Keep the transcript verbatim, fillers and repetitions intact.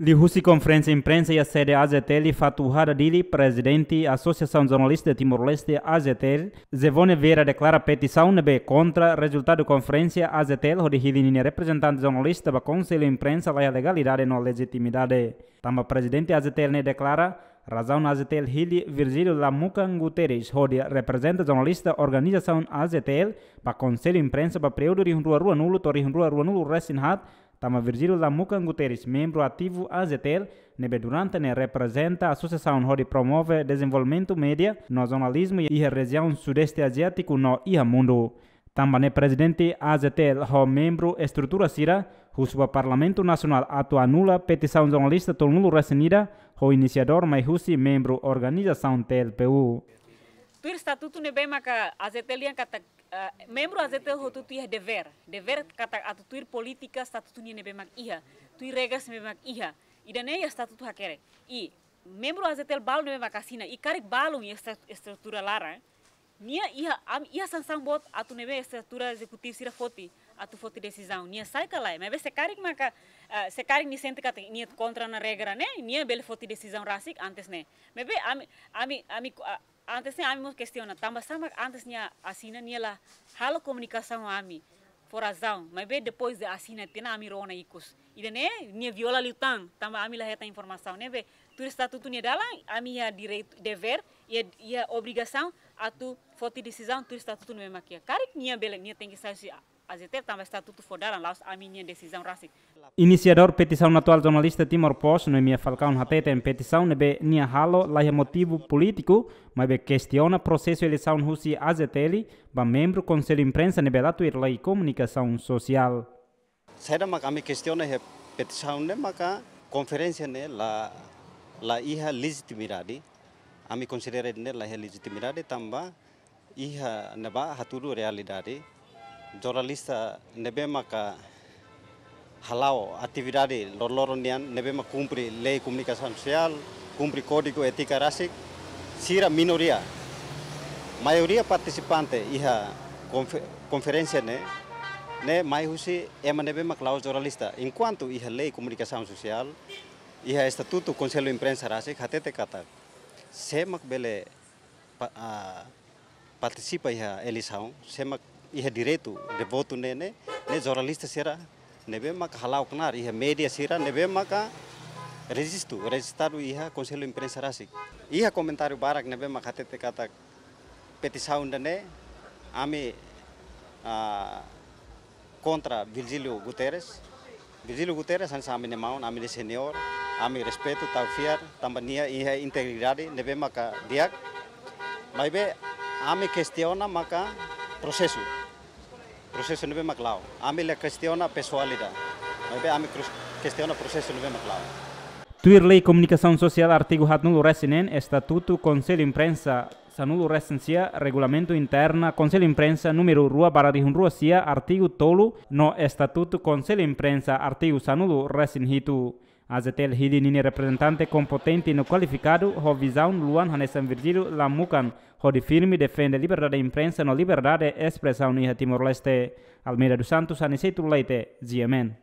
Liuhusi konferénsia imprensa iha sede AJTL, Fatuhada, Dili, Prezidente Asosiasaun Jornalista Timor-Leste, AJTL, Zevone Vieira deklara petisaun ne'ebé kontra rezultadu konferénsia AJTL hodi hili ninia reprezentante jornalista ba Konsellu Imprensa la iha legalidade no lejitimidade. Tanba Prezidente AJTL ne'e deklara, razaun AJTL hili Virgílio Lamucan Guterres hodi reprezenta jornalista organizasaun AJTL ba Konsellu Imprensa ba períodu rihun rua ruanulu to'o rihun rua ruanulu-resin-haat, tanba Virgílio Lamucan Guterres, membru ativu AJTL, ne'ebé durante ne'e reprezenta asosiasaun hodi promove dezenvolvimentu média no jornalizmu iha rejiaun Sudeste Aziátiku no iha mundu. Tanba ne'e Prezidente AJTL ho membru estrutura sira husu ba Parlamentu Nasionál atu anula petisaun jornalista tolunulu-resin-ida ho inisiadór mai husi membru organizasaun TLPU. Tuir estatutu ne'ebé maka AJTL dehan katak, eh, membru AJTL hotu-hotu iha devér. Devér katak atu tuir polítika estatutu nian ne'ebé mak iha. Tuir regras ne'ebé mak iha. Ida-ne'e iha estatutu hakerek. I membru AJTL balu ne'ebé mak asina. I karik balun iha esta-, estrutura laran. Nia iha, am, iha sansaun boot atu ne'ebé estrutura ezekutivu sira foti, atu foti desizaun. Nia sai ka lae. Maibé se karik maka, eh, se karik nia sente katak nia kontra ona regra ne'e, nia bele foti desizaun rasik antes ne'e. Maibé ami, ami, ami, ah, antes ne'e ami mós kestiona, tanba sá mak antes nia asina nia la halo komunikasaun ho ami fó razaun, maibé depois de asina tiha ona ami rona ikus. Ida-ne'e nia viola liután, tanba ami la hetan informasaun. Ne'ebé tuir estatutu nia dalan, ami iha direitu, devér, iha, iha obrigasaun atu foti desizaun tuir estatutu ne'ebé mak iha. Karik nia bele, nia tenke sai husi AJTL tanba estatutu fó dalan, la'ós ami-nia desizaun rasik. Inisiadór petisaun atuál jornalista Timor Post, Noemia Falcão, hateten petisaun ne'ebé nia halo la iha motivu polítiku, maibé kestiona prosesu eleisaun husi AJTL ba membru Konsellu Imprensa ne'ebé la tuir lei komunikasaun sosiál. Saida mak ami kestiona iha petisaun ne'e maka konferénsia ne'e la, la iha lejitimidade. Ami konsidera ne'e la iha lejitimidade tanba iha ne'ebá hatudu realidade. Jornalista ne'ebé maka hala'o atividade loroloron nian ne'ebé mak kumpre lei komunikasaun sosiál, kumpre kódigu étika rasik, sira minoria. Maioria partisipante iha konfe-, konferénsia ne'e, ne'e mai husi ema ne'ebé mak la'ós jornalista. Enkuantu iha lei komunikasaun sosiál, iha estatutu Konsellu Imprensa rasik, hatete katak sé mak bele pa-, ah, partisipa iha eleisaun, sé mak iha direitu de votu ne'e, ne'e, ne'e jornalista sira ne'ebé maka hala'o knaar iha média sira ne'ebé maka rejistu, rejistadu iha Konsellu Imprensa rasik. Iha komentáriu barak ne'ebé maka hatete katak petisaun ida-ne'e ami, ah, kontra Virgílio Guterres. Virgílio Guterres hanesan ami-nia maun, ami-nia seniór, ami respeitu, tau fiar, tanba nia iha integridade ne'ebé maka di'ak. Maibé ami kestiona maka prosesu. Prosesu ne'ebé mak la'o. Ami la kestiona pesoál ida. Maibé ami krus-, kestiona prosesu ne'ebé mak la'o. Tuir lei komunikasaun sosiál artigu haatnulu-resin-neen, estatutu Konsellu Imprensa sanulu-resin-sia, Regulamentu Interna Konsellu Imprensa númeru rua barra rihun rua sia, artigu tolu, no Estatutu Konsellu Imprensa, artigu sanulu-resin-hitu. AJTL hili ninia reprezentante kompetente no kualifikadu, ho vizaun luan hanesan Virgílio Lamucan, hodi firme defende liberdade imprensa no liberdade espresaun iha Timor-Leste. Almeida dos Santos, Aniceto Leite, G M N.